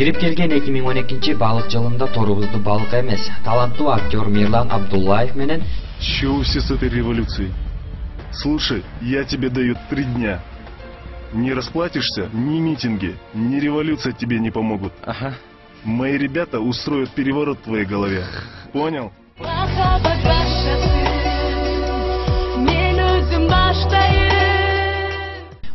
Кирип келген 2012 балык жылында торубузду балык эмес, таланттуу актер Мирлан Абдуллаев менен Чего все с этой революцией? Слушай, я тебе даю 3 дня. Не расплатишься, ни митинги, ни революция тебе не помогут. Ага. Мои ребята устроят переворот в твоей голове. Понял?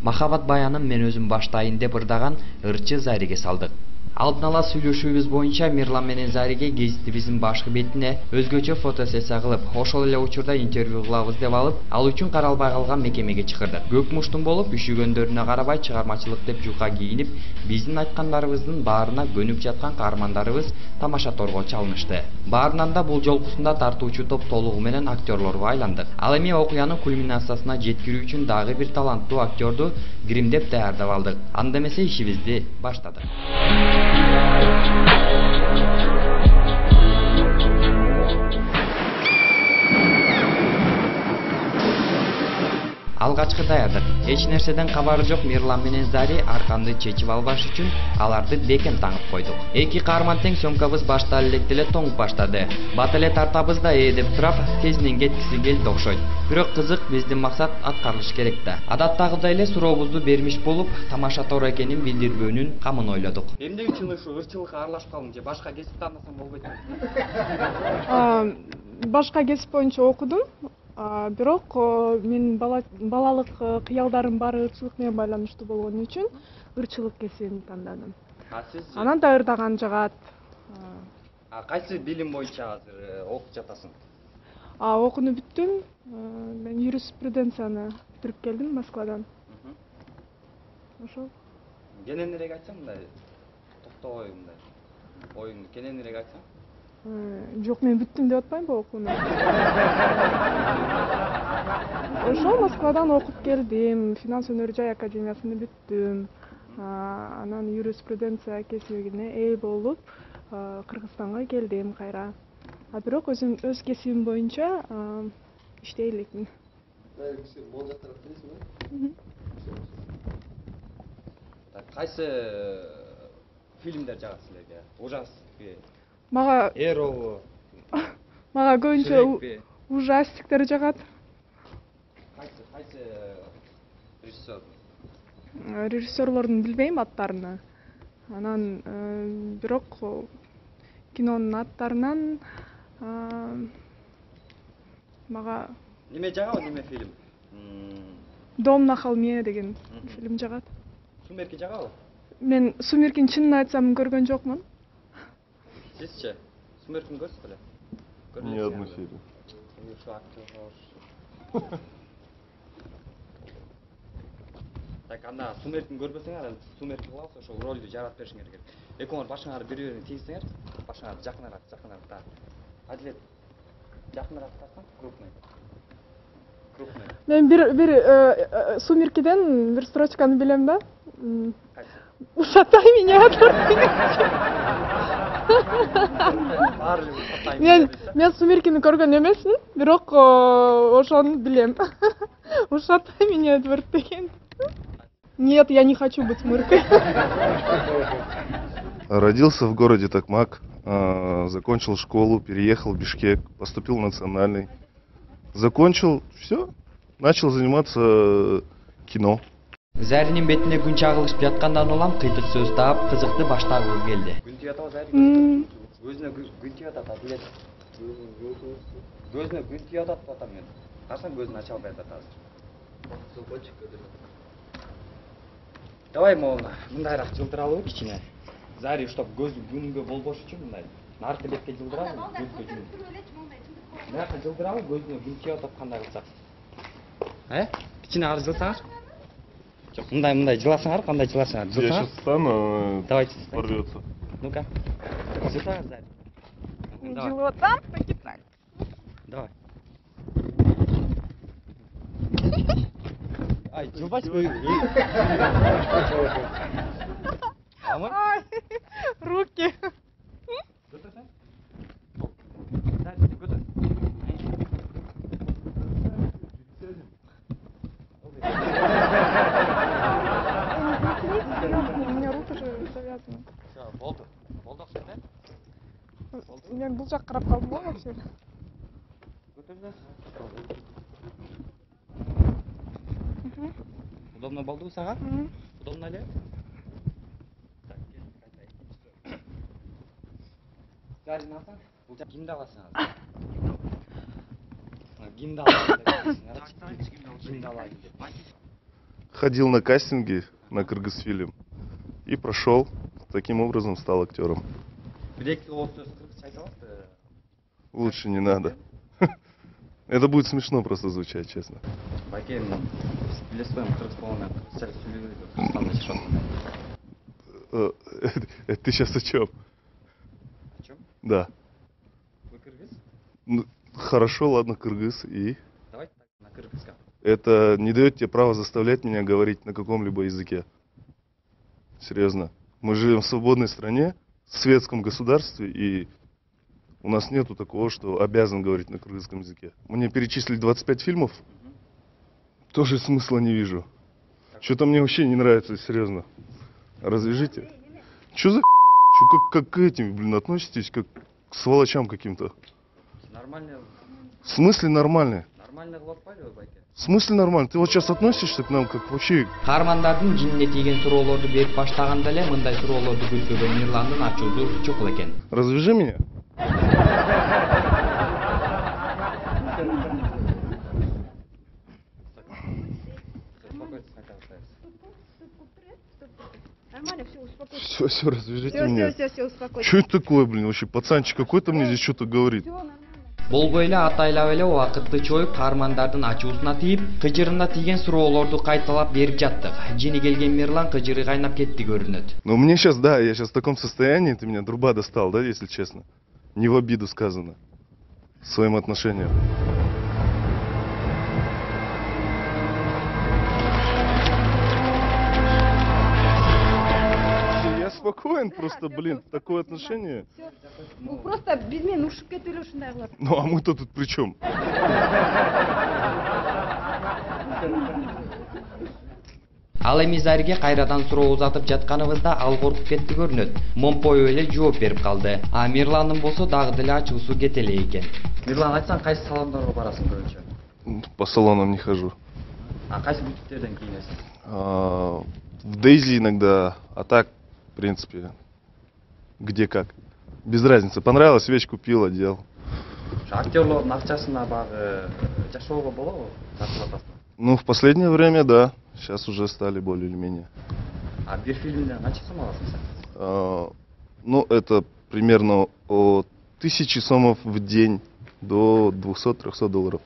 Махабат баянын мен өзүм баштайын деп ырдаган ырчы Зариге салдык. Алдын ала сүйлөшүүбүз боюнча Мирлан менен Зариге гезитибиздин башкы бетине өзгөчө фотосессия кылып, ошол эле учурда интервью кылабыз деп алып, ал үчүн каралбай калган мекемеге чакырдык. Көк муштун болуп, үшүгөндөрүнө карабай чыгармачылык деп жука кийинип, биздин айткандарыбыздын баарына көнүп жаткан каармандарыбыз тамаша торго чалынышты. Баарынан да бул жолкусунда тартуучу топ толугу менен актерлорго айландык. Ал эми окуянын кульминациясына жеткирүү үчүн дагы бир таланттуу актерду гримдеп даярдап алдык. Анда эмесе ишибизди баштадык. Алгачкы даярдык. Эч нерседен кабары жок Мирлан менен Зари арканды чечип албаш үчүн аларды бекем таңып койдук. Эки каарман тең сөмкабыз башта электе эле тоңуп баштады. Бат эле тартабыз да деп турап тезинен кеткиси келди окшойт. Бирок кызык, биздин максат аткарылыш керек да. Адаттагыдай эле сурообузду бермиш болуп, тамаша тор экенин билдирбөөнүн камын ойлодук. Эмне үчүн ушу ырчылыкка аралашып калдың же башка кесип тандасаң болбойт? Башка кесип боюнча окудум. Бирок мен балалык кыялдарым баары ырчылык менен байланыштуу болгон үчүн ырчылык кесибин тандадым. Анан да ырдаган жагат. Кайсы билим боюнча азыр окуп жатасың? Окууну бүттүм. Мен юриспруденцияны бүтүрүп келдим Москвадан. Ошол. Кененирээк айтсаң мындай токтобой мындай. Оюңду кененирээк айтсаң? Жок, мен бүттүм деп атпайм бу окууну. Ошол Москвадан окуп келдим. Финанс өнөр жай академиясын бүттүм. Анан юриспруденция кесибине ээ болуп, Кыргызстанга келдим кайра. Бирок өз кесибим боюнча иштей элекмин. Кайсы фильмдер жагат силерге? Ужастикпи? Мага көбүнчө ужастиктер жагат. Кайсы режиссер? Режиссерлордун билбейм аттарын. Анан бирок кинонун аттарынан мага неме жагабы, неме фильм? Дом на холме деген фильм жагат. Сумерки жагабы? Мен Сумеркини чынын айтсам көргөн жокмун. Сизчи? Сумеркини көрсүз беле? Ни одну серию. Так, анда Сумеркини көрбөсөңөр, Сумерки кылабыз, ошол ролду жаратып беришиңер керек. Экөөңөр башыңарды бири-бирине тийсеңер, башыңарды жакыныраак. Адилет, жакыныраак тартсаң, крупный. Мен бир Сумеркиден бир строчканы билем да. Ушатай меня, Мен Сумеркини көргөн эмесмин, бирок ошону билем. Ушатай меня, Эдвард деген. Нет, я не хочу быть мыркой. Родился в городе Токмак, закончил школу, переехал в Бишкек, поступил в национальный. Закончил, все, начал заниматься кино. Заринин бетине күн чагылышып жаткандан улам кыйтык сөз таап, кызыкты баштагыбыз келди. Күн тип атабы Зарин? Көзүнө күн тип атат, Адилет. Көзүнө күн тип атат деп атам мен. Карасаң көзүн ача албай атат азыр. Давай мындайраак жылдыралыбы кичине. Зари уштап көзү күнгө болбош үчүн мындай наркы бетке жылдырабы, жүзгө жүн. Наркы жылдырабы, көзүнө күн тип атат кандай кылсак? Кичине ары жылсаңар? Жок, мындай жыласаңар, кандай жыласаңар? Я сейчас встану, давайте порвется. Ну-ка. Жылсаңар, Зари. Жылытам, покитай. Давай. Ай, жылбайсың бö. Ай, руки. Götürsene. Nerede? Götür. У меня руки же завязаны. Все, болду. мен бул жакка карап калдым го вообще. Удобно болдубу сага? Удобно эле? Зарин алсаң, бул жак кимди аласың? Кимди аласың? Кимди алайын деп. Ходил на кастинги на Кыргызфильм и прошел. Таким образом стал актером. Лучше не надо. Это будет смешно просто звучать, честно. Это ты сейчас о чем? О чем? Да. Вы кыргыз? Ну, хорошо, ладно, кыргыз и... Давайте так, на кыргызском. Это не дает тебе права заставлять меня говорить на каком-либо языке. Серьезно. Мы живем в свободной стране, в светском государстве, и у нас нету такого, что обязан говорить на кыргызском языке. Мне перечислили 25 фильмов, тоже смысла не вижу. Что-то мне вообще не нравится, серьезно. Развяжите. Что за фигня? Как к этим, блин, относитесь, как к сволочам каким-то? Нормально. В смысле нормальные? Нормально главпали, байке. В смысле нормально? Ты вот сейчас относишься к нам как вообще... Каармандардын жинине тийген суроолорду берип баштаганда эле мындай суроолорду күтпөгөн Мирландын ачуусу чукул экен. Развяжи меня. Нормально, все, успокойся. Все, развяжите меня. Все, успокойся. Что это такое, блин, вообще? Пацанчик какой-то мне здесь что-то говорит. Болбой эле атайлап эле убакытты чоюп каармандардын ачуусуна тийип, кыжырына тийген суроолорду кайталап берип жаттык. Жини келген Мирлан кыжыры кайнап кетти көрүнөт. Ну мне сейчас, да, я сейчас в таком состоянии, ты меня труба достал, да, если честно. Не в обиду сказано. Своим отношением. Я спокоен, просто, блин, такое отношение. Ну просто без меня ушип кетип эле ушундай кылат. Ну а мы-то тут при чем? Ал эми Зариге кайрадан суроо узатып жатканыбызда ал коркуп кетти көрүнөт. Момпой эле жооп берип калды. А Мирландын болсо дагы деле ачуусу кете эле экен. Мирлан, айтсаң кайсы салондорго барасың көбүнчө? По салонам не хожу. А кайсы бутиктерден кийинесиң? В Дейзи иногда, а так, в принципе, где как. Без разницы. Понравилось, вещь купил, одел. Актерлордун акчасына багы жашоого болобу? Тартып атасың? Ну, в последнее время, да. Сейчас уже стали более или менее. А бир фильмден канча сом аласың сен? Ну, это примерно от 1000 сомов в день до 200-300 долларов.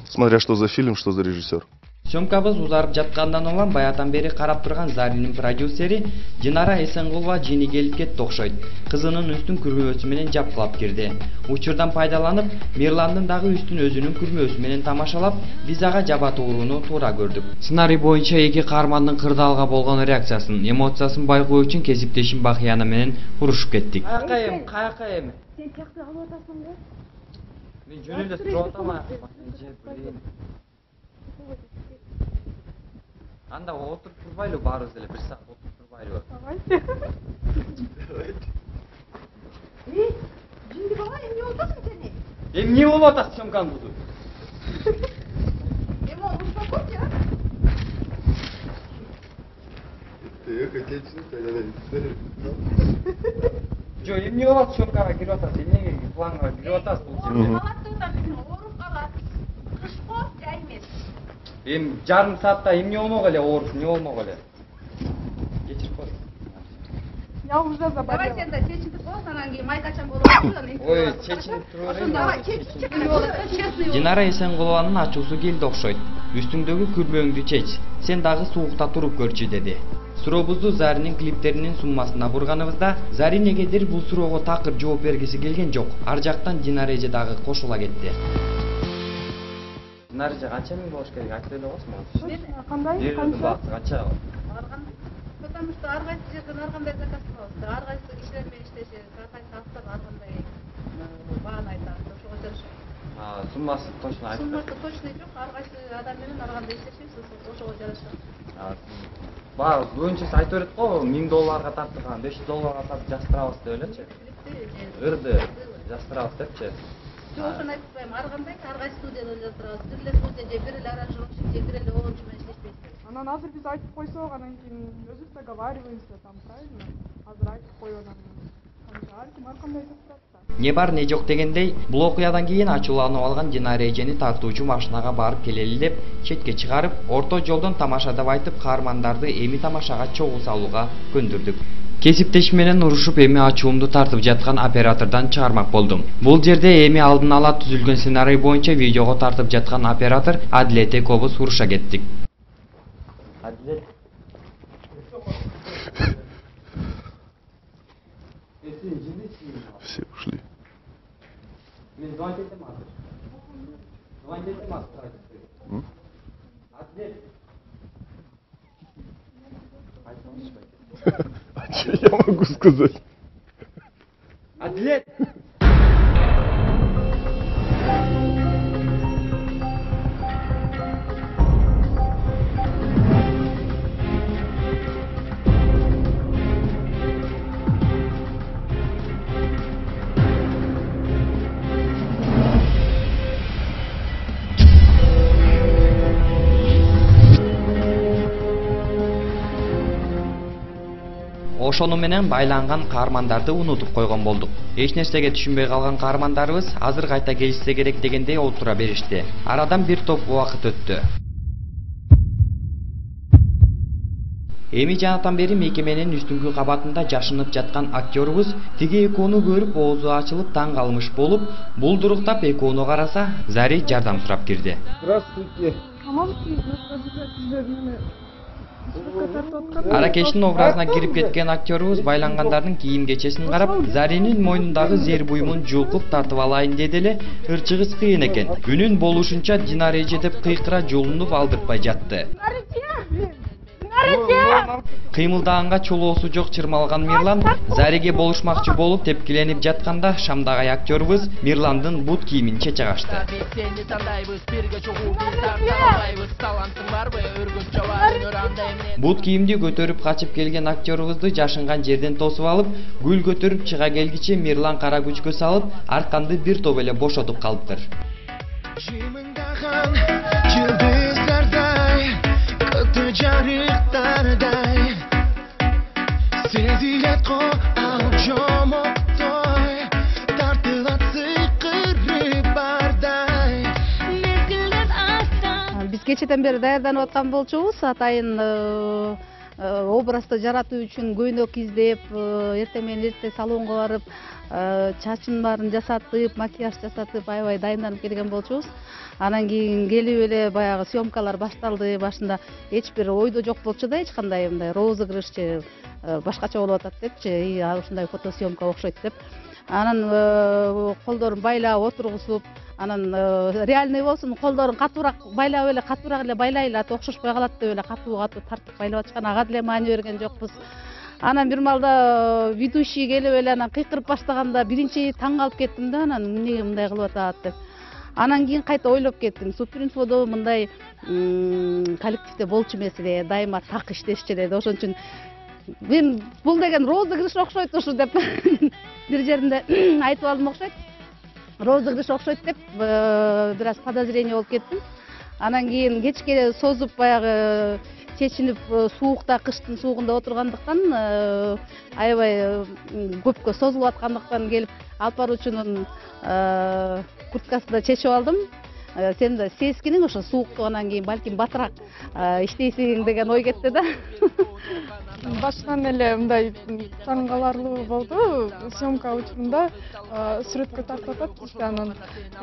Смотря что за фильм, что за режиссер. Сөмкабыз узарып жаткандан улам баятан бери карап турган Заринин продюсери Динара Эсенгулова жини келип кетти окшойт. Кызынын үстүн күрмөөсү менен жапкылап кирди. Учурдан пайдаланып, Мирландын дагы үстүн өзүнүн күрмөөсү менен тамашалап, биз ага жаба тууруну туура көрдүк. Сценарий боюнча эки каармандын кырдаалга болгон реакциясын, эмоциясын байкоо үчүн кесиптешим Бахияна менен урушуп кеттик. Каяка эми? Сен тиякты алып атасың го? Мен жөн эле туруп атам. Анда отуруп турбайлы баарыбыз деле бир саат отуруп турбайлы. Жинди бала эмне болуп атасың сени? Эмне болуп атасың сөмканы бузуп? Успокойся. Жо, эмне болуп атасың сөмкага кирип атасың? Эмнеге планга кирип атасың бул жерге? Ооруп калат. Кыш го, жай эмес. Жарым саатта эмне болмок эле ооруп, эмне болмок эле? Кечирип кой. Я уже заболела. Давай сен да чечиндип коесуң, анан кийин майкачан болуп атасың. Ой, чечинип туруп берейин. Давай чечип. Динара Эсенгулованын ачуусу келди окшойт. Үстүңдөгү күрмөөңдү чеч. Сен дагы суукта туруп көрчү деди. Сурообузду Заринин клиптеринин суммасына бурганыбызда, Зари негедир бул суроого такыр жооп бергиси келген жок. Ар жактан Динара эже дагы кошула кетти. Динара эже канча миң болуш керек? Айтып эле койсуң. Кандай? Канча? Потому что ар кайсы жерден ар кандай заказ кылабыз. Ар кайсы кишилер менен иштеши, ар кайсы автор ар кандай бааны айтат. Ошого жараша. Суммасы точно айтып. Суммасы точно жок, ар кайсы адам менен ар кандай иштешибиз, ошого жараша. Баа, көбүнчөсү айтып берет го, $1000 тартылган, $500 тартып жаздырабыз деп элечи. Ырды. Жаздырабыз депчи? Жок, ошону айтып коеюн. Ар кандай ар кайсы студияда жаздырабыз. Бир эле студия же бир эле аранжировщик же бир эле оончу менен иштешпейбиз. Анан азыр биз айтып койсок, анан кийин өзүбүз договариваемся там, правильно? Азыр айтып коюп анан ар ким ар кандай жаздырат да. Не бар не жок дегендей, бул окуядан кийин ачууланып алган Динара эжени тартуучу машинага барып келели деп четке чыгарып, орто жолдон тамаша деп айтып, каармандарды эми тамашага чогуу салууга көндүрдүк. Кесиптешим менен урушуп эми ачуумду тартып жаткан оператордон чыгармак болдум. Бул жерде эми алдын ала түзүлгөн сценарий боюнча видеого тартып жаткан оператор Адилет экөөбүз уруша кеттик. Адилет. Все ушли. А что я могу сказать? Адилет! Ошону менен байланган каармандарды унутуп койгон болдук. Эч нерсеге түшүнбөй калган каармандарыбыз азыр кайта келишсе керек дегендей отура беришти. Арадан бир топ убакыт өттү. Эми жанатан бери мекеменин үстүңкү кабатында жашынып жаткан актёрубуз тиги экөөнү көрүп оозу ачылып таң калмыш болуп, булдуруктап экөөнү караса, Зари жардам сурап кирди. Здравствуйте. Аракештин образына кирип кеткен актёрубуз байлангандардын кийим-кечесин карап, Заринин мойнундагы зер буюмун жулкуп тартып алайын деди эле, ырчыгыз кыйын экен. Үнүн болушунча Динара эже деп кыйкыра жолунуп алдыртпай жатты. Кыймылдаганга чолоосу жок чырмалган Мирлан Зариге болушмакчы болуп тепкиленип жатканда Шамдагы актёрубуз Мирландын бут кийимин чечагашты. Бут кийимди көтөрүп качып келген актёрубузду жашынган жерден тосуп алып, гүл көтөрүп чыга келгиче Мирлан кара күчкө салып, арканды бир топ эле бошотуп калыптыр. Жарыктардай сезилет го алжомоктой тартылат сыйкыры бардай мезгилден астан. Биз кечеден бери даярданып аткан болчубуз. Атайын образды жаратуу үчүн көйнөк издеп, эртең менен эрте салонго барып, чачын баарын жасатып, макияж жасатып, аябай дайынданып келген болчубуз. Анан кийин келип эле баягы съемкалар башталды. Башында эч бир ойдо жок болчу да, эч кандай мындай розыгрыш же башкача болуп атат депчи, ушундай фотосъемка окшойт деп. Анан колдорун байлап отургузуп, анан реальный болсун, колдорун катуураак байлап эле, катуураак эле байлайлы, аты окшошпой калат деп эле катуу тартып байлап атышкан. Ага деле маани берген жокпуз. Анан бир маалда ведущий келип эле анан кыйкырып баштаганда биринчи таң калып кеттим да, анан эмнеге мындай кылып атат деп. Анан кийин кайта ойлоп кеттим. Суперинфодо мындай коллективде болчу эмес эле, дайыма так иштешчү эле. Ошон үчүн мен бул деген розыгрыш окшойт ушу деп бир жеринде айтып алдым окшойт. Розыгрыш окшойт деп бир аз подозрение болуп кеттим. Анан кийин кечке созуп баягы чечинип суукта, кыштын суугунда отургандыктан аябай көпкө созулуп аткандыктан келип алып баруучунун курткасында чечип алдым. Сен да сескиниң ошо сууктуганан кийин балким батыраак иштейсиң деген ой кетти да. Башынан эле мындай таң каларлуу болду. Съемка учурунда сүрөткө тартып атат, анан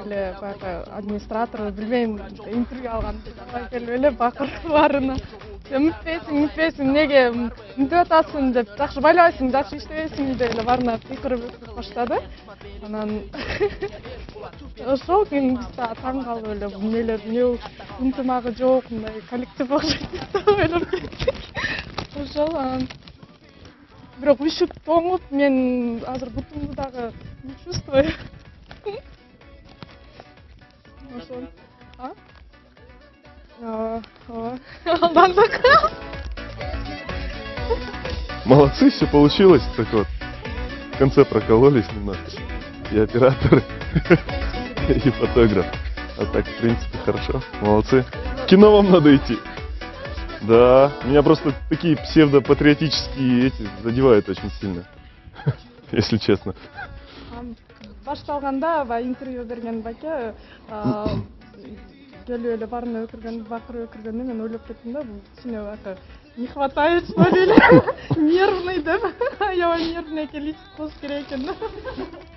эле баягы администратор билбейм интервью алган келип эле бакырып баарына үмүтпейсиң, неге мынтип атасың деп, жакшы байлабайсың, жакшы иштебейсиң деп эле баарына кыйкырып баштады. Анан ошол кийин биз да таң калып эле эмнелер, эмне ынтымагы жок, мындай коллектив окшойт деп ойлоп кеттик. Ошол анан бирок үшүп тоңуп, мен азыр бутумду дагы не чувствую. Ошол. Алдандык. Молодцы, все получилось. Так вот, в конце прокололись немножко. и оператор, и фотограф. А так, в принципе, хорошо. Молодцы. В кино вам надо идти. Да, меня просто такие псевдопатриотические эти задевают очень сильно, если честно. Башталганда интервью берген баке келип эле баарын өкүргөн, бакырып өкүргөндө мен ойлоп кеттим да, бул кичине не хватает, что ли, нервный деп. Аябай нервный экен, болуш керек экен.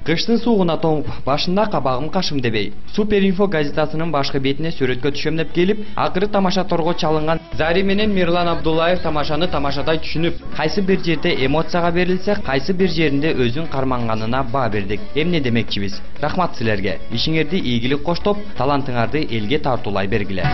Кыштын суугуна тоңуп, башында кабагым кашым дебей, Супер Инфо газетасынын башкы бетине сүрөткө түшөм деп келип, акыры тамашаторго чалынган Зари менен Мирлан Абдуллаев тамашаны тамашадай түшүнүп, кайсы бир жерде эмоцияга берилсе, кайсы бир жеринде өзүн карманганына баа бердик. Эмне демекчибиз? Рахмат силерге. Ишиңерди ийгилик коштоп, талантыңарды элге тартуулай бергиле.